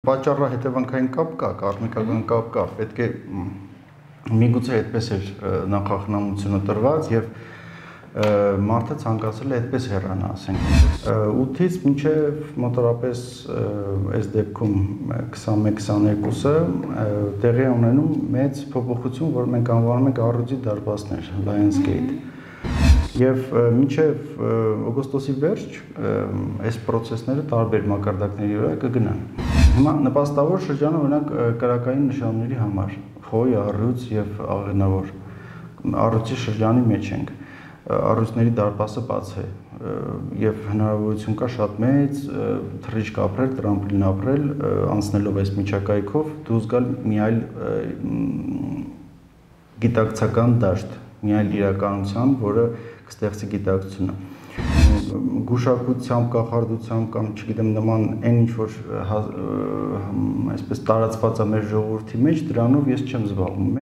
պատճառահետևանքային կապ կա, կարմիկական կապ կա, պետք է միգուցե այդպես էր նախախնամությունը տրված եւ մարդը ցանկացել է այդպես հեռանա, ասենք 8-ից մինչև մոտավորապես այս դեպքում 21-22-ը տեղի ունենում մեծ փոփոխություն, որ մենք անվանում ենք առյուծի դարպասներ, Lions Gate։ Եվ մինչև օգոստոսի վերջ այս process-ները տարբեր մակարդակների վրա կգնան։ Հիմա նպաստավոր շրջանը օրինակ կրակային նշանների համար, խոյ, առյուծ եւ աղենավոր առյուծի շրջանի մեջ ենք։ Առյուծների դարպասը բաց է եւ հնարավորություն կա շատ մեծ թռիչք ապրել, տրամպլին ապրել, անցնելով այս միջակայքով դուրս գալ մի այլ գիտակցական դաշտ, մի այլ իրականության, որը կստեղծի գիտակցությունը։ Գուշակությամբ, կախարդությամբ կամ չգիտեմ նման այն ինչ որ այսպես տարածված է մեր ժողովրդի մեջ, դրանով ես չեմ զբաղվում։